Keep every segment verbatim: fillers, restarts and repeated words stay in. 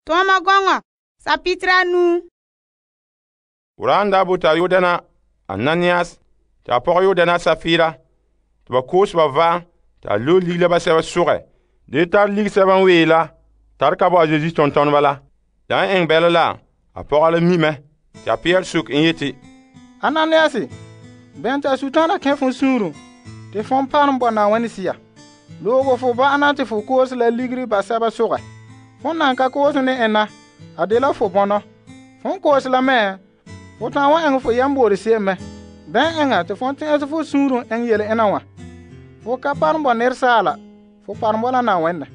Toma gɔŋɔ sapitra nu. Uran da buta Yudana Ananias ta pɔgɔ Yudana Safira to ba koos ba va ta lo ligla ba sɛba sugɛ de tar lig sɛba n wee la tar ka bo a Yesu tontoneba la. Da n eŋ bɛla la a pɔgɔ la mi mɛ ta Pierre suk n yeti Ananias, bɛn ta Sutana kẽ fon suuru te fon parom bo Na'ayenɛ sia. Loogo fo ba'ana te fo koos la ligri ba sɛba sugɛ. Fon nan ka koos ne enna, a dela fo bɔnɔ. Fon koos la mɛ, fo ta'an wa eŋɛ fo yamboore se'em mɛ. Bɛn eŋa te fon tɛn'ɛse fo suuru eŋ yele ena wa. Fo ka parom bo nɛresaala, fo parom bo la Na'ayenɛ.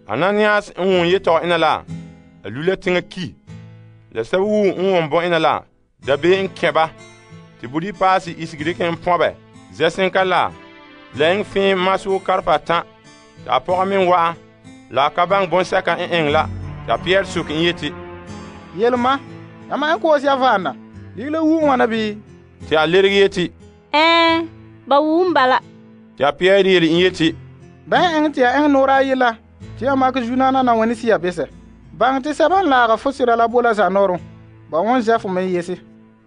Ananias n wʋn yetɔgɔ ena la, a lu la teŋa ki. La sɛba wu n wʋn bo ena la, dabeem n kẽ ba. Te budi paase isegi dikɛ n pɔbɛ, zɛsenka la, la eŋ fẽem masoo karpa tã. Ta a pɔgɔ me wa'a, la a ka baŋɛ bɔnsɛka n eŋɛ la. Ta Pierre suk n yeti, Yelema, yamma n koos ya vaana, ligla wu ŋwana bii? Te a lerege yeti, Ɛɛ, ba wum bala. Te a Pierre yele n yeti, Bɛn eŋɛ te ya eŋɛ noora ayi la, te ya makɛ zunaana Na'ayenɛ sia besɛ. Baŋɛ te sɛba n laaga fo sira la bo la zanɔɔrɔ, ba won zɛ fo me yese.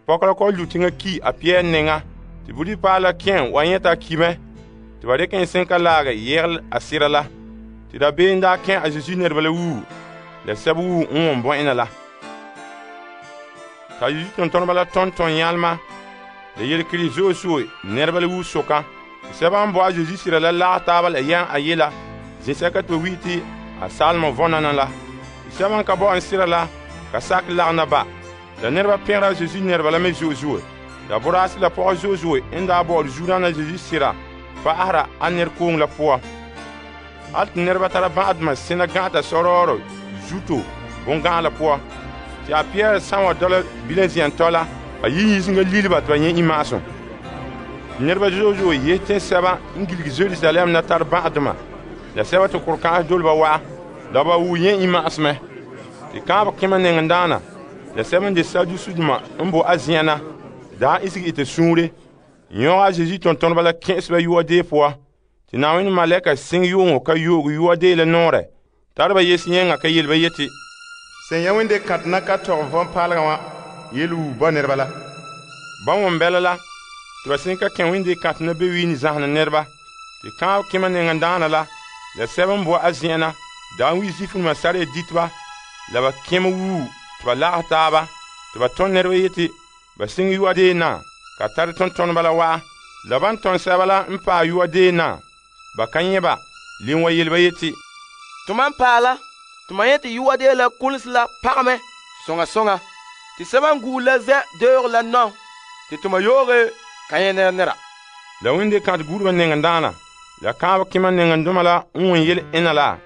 pɔkɔla kɔ lu teŋa ki a Pierre neŋa. Te budi paa la kẽn wa yẽta ki mɛ. Te ba dikɛ en sẽnka laagɛ yɛgel a sira la. Te dabeem daa kẽ a Zesu nɛreba la wuu, la sɛba wuu n wʋn bo ena la. Ta Yesu tontoneba la tɔn tɔn yãlema, la yelekere zo'e zo'e nɛreba la wuu soka. Sɛba n bo a Zesu sira la lagɛ taaba la yɛn a yela, zĩsɛka te ba wi te a salema vɔnana la. Sɛba n ka bo n sira la, ka sakɛ lagena ba. La nɛreba pẽgera Zesu nɛreba la me zo'e zo'e. La boraase la pɔgɔ zo'e zo'e n daa bɔ'ɔre zuodaana Zesu sira pa'ahera a nɛrekoŋe la poan. Hal te nɛreba tara bã'adema sẽna gã'ata sɔrɔɔrɔ zuto bõn-gã'a la poan. Te a Pierre sã n wa dɔla bilam zɛntɔ la, a yi yĩsinga lilba tɩ ba yẽ imma'asum. Nɛreba zo'e zo'e yese tẽnsɛba n giligi Jerusalem na tara bã'adema, la sɛba tɩ kʋr-kã'as dole ba wa'a, la ba wuu yẽ imma'asmɛ. Tɩ kãabã kẽma nɛŋendaana, la sɛba n de Sadusuduma n bo a zẽna, daa isegi ite suure, yõga a Zesu tontoneba la kẽ'esba yuwa-dee poa, tɩ Na'ayenɛ malɛka sɩng yʋʋŋɔ ka yoog yuwa-dee la noorɛ, tara ba yes yẽnga ka yel ba yeti, Sẽn ya wẽnde kãtɛ na ka tɔgɛ vɔn-paalega wã yel wuu ba nɛreba la. Ba wõn bɛla la, tɩ ba sẽn ka kẽ wẽnde kãtɛ na be wiine zãsena nɛreba, tɩ kãab kẽma nɛŋendaana la, la sɛba n bo a zẽna, daa n wi Zuifduma sara diteba, la ba kẽm wuu tɩ ba lagɛ taaba, tɩ ba tõnd nɛreba yeti ba sɩng yuwa-dee na, ka tare tontoneba la wa'a. La ban tõnd sɛba la n paɛ yuwa-dee na, ba ka yẽ ba, len wa yel ba yeti, Tʋma n paɛ la, tɩ ma yẽ tɩ yuwa-dee la kuls la pagame sõŋa sõŋa, tɩ sɛba n guur la zɛ deoog la nɔ, tɩ tʋma yooge ka yẽ nɛra nɛra. La wẽnde kãtɛ gurba nɛŋendaana, la kãab kẽma nɛŋendoma la n wõn yel ẽna la,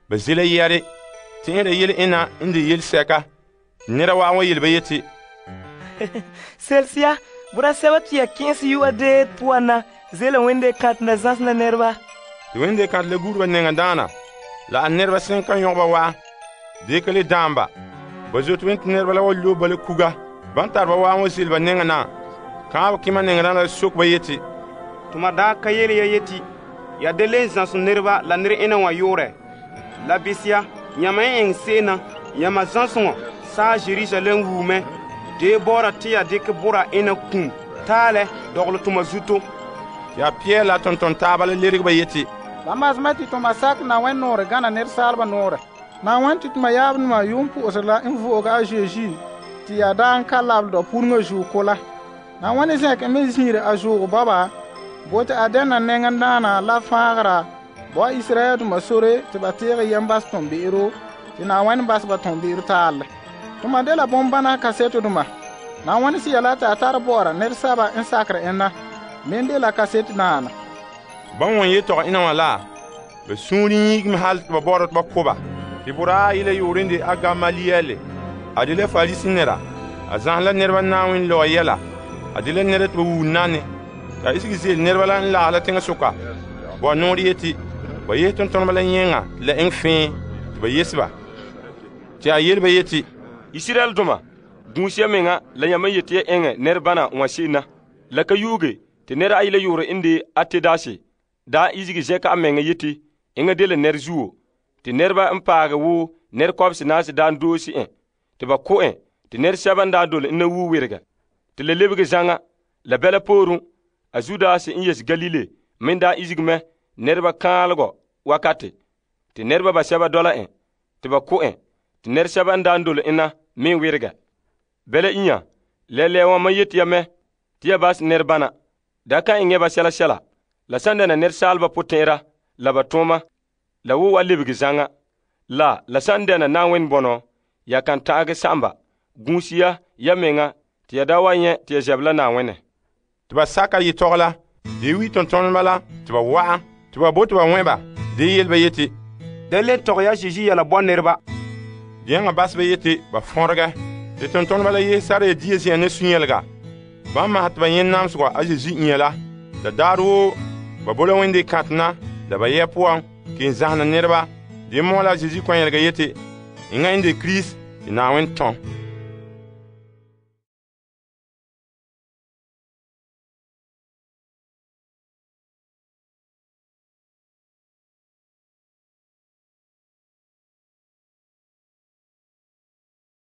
ba ze la yɛre, tẽera yel ẽna n de yel-sɛka. Nera wa wa yel ba yeti, Selsia, bura sɛba tɩ ya kẽes yuwa-dee puan na zela wẽnde kãtɛ na zãsena nɛreba. Tɩ wẽnde kãtɛ la gurba nɛŋendaana, la a nɛreba sẽn ka yõg ba wa, dɩka le dãamba. Ba zote wẽn tɩ nɛreba la wa lob ba la kuga. Ban tar ba waa wã zel ba nɛŋena, kãab kẽma nɛŋendaana la sok ba yeti, Tʋma daa ka yele ya yeti, ya de le zãsem nɛreba la ned ẽna wã yʋʋrɛ. La bisya, yãmba n ẽng se'ena, yãmba zãsengɔ saa Jerusalem wuumɛ, dee bɔɔra tɩ ya dɩkɛ bʋra ẽna kum taalɛ dɔgla tʋma zuto. Tɩ a Pierre la tonton taaba la lerg ba yeti, La masmɛ tɩ tʋma sak Na'ayenɛ noore gãna nɛresaalba noore. Na'ayenɛ tɩ tʋma yaabdema yʋʋm pʋ'ʋsr la n vo'oge a Zeezi tɩ ya daa n ka labd pʋrengã zuo ko la. Na'ayenɛ zẽk me zĩire a zoog baba, bo tɩ a dɛna nɛŋendaana la fãagera bo a Israyɛl dʋma sore tɩ ba teege yɛm bas tõn-be'ero tɩ Na'ayenɛ bas ba tõn-be'er taalle. Tʋma de la bõn-bãna kasetdʋma. Na'ayenɛ sɩ ya la tɩ a tar bɔɔra nɛresaba n sakr ẽnna, men de la kaset naana. Ba wõn yetɔgɔ ẽna wã la, ba sũur yĩigme hal tɩ ba baoodã tɩ ba kʋba. Tɩ boraa yɩla yoore n de a Gamaliyɛle, a de la Farisi nɛra, a zãs la nɛreba Na'ayenɛ laoa yɛla, a de la nɛra tɩ ba wuu nane. T'a isegi zel nɛreba la n lagɛ la teŋasoka, ba noor yeti, ba yes tontoneba la yẽnga tɩ la ẽng fẽe tɩ ba yes ba. Tɩ a yel ba yeti, Israel dʋma, gũus ya menga la yãmba yetɩ ya ẽngɛ nɛrebãna wã se'ena. La ka yuuge tɩ nɛr a yɩla yʋʋr n de a Tedase daa isegi zɛka a menga yeti, ẽngã de la nɛr zuo, tɩ nɛreba n paagɛ wo nɛrekɔbese naase daan doosi en te ba ko' en te nɛresɛba n daa dole en na wuo werega. Te le lebege zaŋa la bɛla pooren a Zudas n yese Galile me daa izige mɛ nɛreba kaalegɔ wakate te nɛreba basɛba dɔla en te ba ko' en te nɛresɛba n daa dole en na me werega. Bɛla inya lɛlɛɛ wã mam yeti ya mɛ te ya bas nɛrebana da kan eŋɛ ba sɛla sɛla la san dɛna nɛresaalba potɛn'ɛra la ba tooma la wo wa lebege zaŋa la la san dɛna Na'ayenɛ bɔnɔ ya kan ta'agɛ sa'amba gũusi ya ya meŋa te ya da wa nyɛ te ya zɛb la Na'ayenɛ. Te ba saka yetɔgɔ la de wi tontoneba la te ba wa'a te ba bote ba wẽ ba de yel ba yeti da le tɔgɛ ya Zeezi yɛla bɔ nɛreba. Deɛŋa bas ba yeti ba fõregɛ te tontoneba la yese sara ya dia zi'an ne sũ-yɛlega. Bãmb masɛ te ba yẽ namsegɔ a Zeezi inya la la daarɛ woo ba bo la wẽnde kãtɛ na la ba yɛ poan ken zahena nɛreba de mɔɔ la Zeezi kɔn-yɛlega yeti enŋa n de Kirist te Na'ayenɛ tɔm.